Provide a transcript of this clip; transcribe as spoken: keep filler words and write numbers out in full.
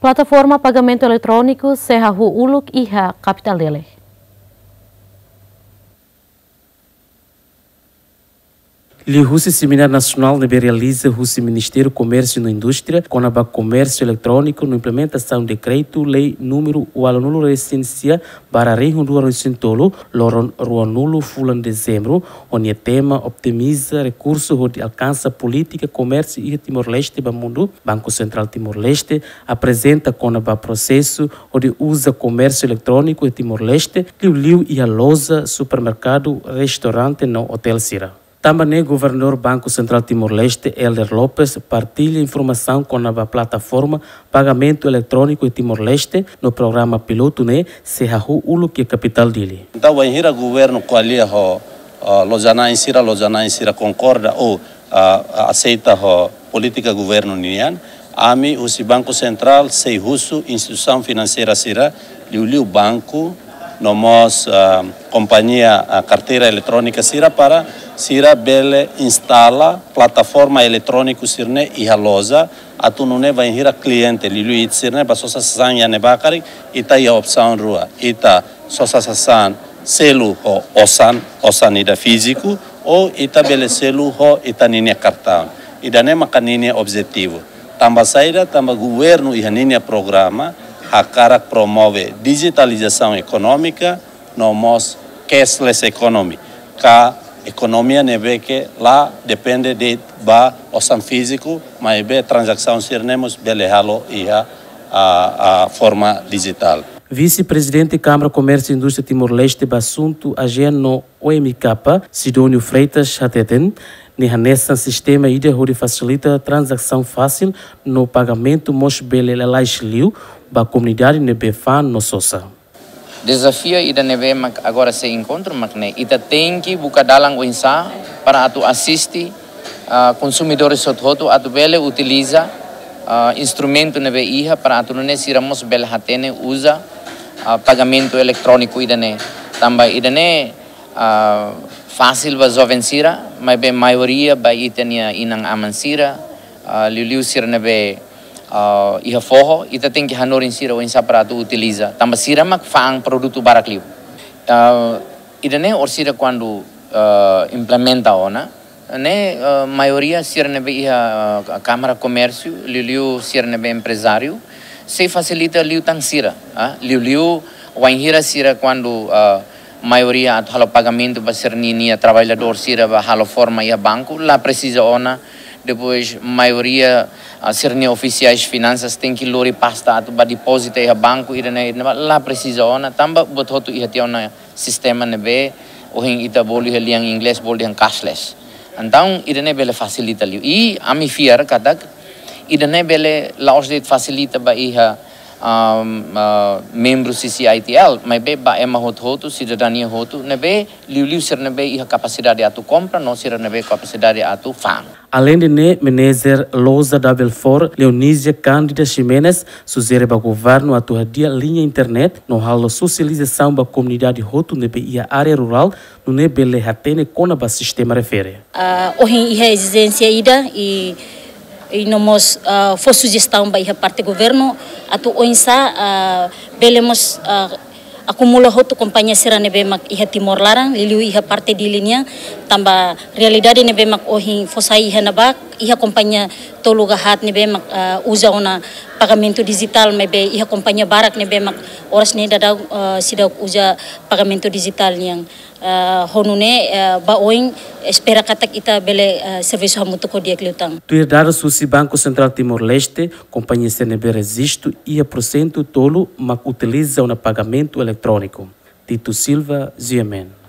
Plataforma pagamentu eletróniku sei hahú uluk iha kapitál Dili. Liuhusi semináriu nasionál ne'ebé realiza husi Ministériu Komérsiu no Indústria kona-ba komérsiu eletróniku no implementasaun dekretu-lei númeru ualunulu-resin-sia barra rihun rua ruanulu-resin-tolu, loron ruanulu fulan Dezembru, ho nia tema Optimiza rekursu hodi alkansa polítika komérsiu iha Timor-Leste ba mundu, Banku Sentrál Timor-Leste aprezenta kona-ba prosesu hodi uza komérsiu eletróniku iha Timor-Leste, liuliu iha loja, supermerkadu, restaurante no otél sira. Tanba ne'e, Governadór Banku Sentrál Timor-Leste, Helder Lopes, partilla informasaun kona-ba plataforma pagamentu eletróniku iha Timor-Leste no programa pilotu ne'e sei hahú uluk iha kapitál Dili. Entaun, bainhira governu ko'alia ho, ah, loja-na'in sira, loja-na'in sira konkorda ou, ah, aseita ho polítika governu nian, ami husi Banku Sentrál sei husu instituisaun finanseira sira, liuliu banku, no mós, ah, kompañia, ah, karteira eletrónika sira para sira bele instala plataforma eletróniku sira-ne'e iha loja, atu nune'e bainhira kliente, liuliu ita sira-ne'e bá sosa sasán iha ne'ebá karik, ita iha opsaun rua, ita sosa sasán selu ho osan, osan ida fíziku, ou ita bele selu ho ita ninia kartaun. Ida-ne'e maka ninia objetivu. Tanba saida? Tanba governu iha ninia programa hakarak promove dijitalizasaun ekonómika, no mós cashless economy, ka ekonomia ne'ebé ke la depende de'it ba osan fíziku, maibé tranzasaun sira-ne'e mós bele halo iha, ah, ah, forma dijitál. Vise-Prezidente Kámara Komérsiu Indústria Timor-Leste ba asuntu AGEAN no OMK, Sidónio Freitas, hateten, ne'e hanesan sistema ida hodi fasilita tranzasaun fásil no pagamentu mós bele lalais liu ba komunidade ne'ebé fa'an no sosa. Dezafiu ida ne'ebé mak agora sei enkontru mak ne'e, ita tenke buka dalan oinsá para atu asiste, ah, konsumidores hotu-hotu atu bele utiliza, ah, instrumentu ne'ebé iha para atu nune'e sira mós bele hatene uza, ah, pagamentu eletróniku ida-ne'e. Tanba ida-ne'e, ah, fasil ba joven sira, maibé maioria ba ita-nia inan-aman sira, ah, liuliu sira ne'ebé, ah, iha foho, ita tenke hanorin sira oinsá para atu utiliza. Tanba sira mak fa'an produtu barak liu. Ah, ida-ne'e orsida kuandu, ah, implementa ona, ne'e, ah, maioria sira ne'ebé iha, ah, Kámara Komérsiu, liuliu sira ne'ebé emprezáriu, sei fasilita liután sira, ah, liuliu wainhira sira kuandu, ah, maioria atu halo pagamentu ba sira-ninia traballadór sira ba halo forma iha banku, la presiza ona. Depois, maioria, ah, sira-nia ofisiais finansas tenke lori pasta atu ba depozita iha banku, ida-ne'e, ida-ne'e, la presiza ona, tanba buat hotu iha tiha ona sistema ne'ebé ohin ita bolu iha lian inglés, bolu dehan cashless. Entaun, ida-ne'e bele fasilita liu. I ami fiar katak ida-ne'e bele la'ós de'it fasilita ba iha, am, ah, membru C C I T L, maibé ba ema hotu-hotu, sidadania hotu, ne'ebé liuliu sira ne'ebé iha kapasidade atu kompra, no sira ne'ebé kapasidade atu fa'an. Aleinde ne'e, Manager Loja da Belfor, Leonísia Cândida Ximenes, sujere ba governu atu hadi'a liña internet no halo sosializasaun ba komunidade hotu ne'ebé iha área rurál, nune'e bele hatene kona-ba sistema refere. Ah, ohin iha ezijénsia ida i, i no mós, ah, fó sujestaun ba iha parte governu atu oinsá, ah, bele mós, ah, akumula hotu kompañia sira ne'ebé mak iha Timor laran, liuliu iha parte Dili nian, tanba realidade ne'ebé mak ohin fó sai iha ne'ebá, iha kompañia tolu ka haat ne'ebé mak, ah, uza ona pagamentu dijitál, maibé iha kompañia barak ne'ebé mak oras ne'e daudaun, ah, seidauk uza pagamentu dijitál nian. Ah, ho nune'e, ah, ba oin espera katak ita bele, ah, servisu hamutuk ho di'ak liután. Tuir dadus husi Banku Sentrál Timor-Leste, kompañia sira ne'ebé rejistu iha porsentu tolu mak utiliza ona pagamentu eletróniku. Tito Silva, G M N.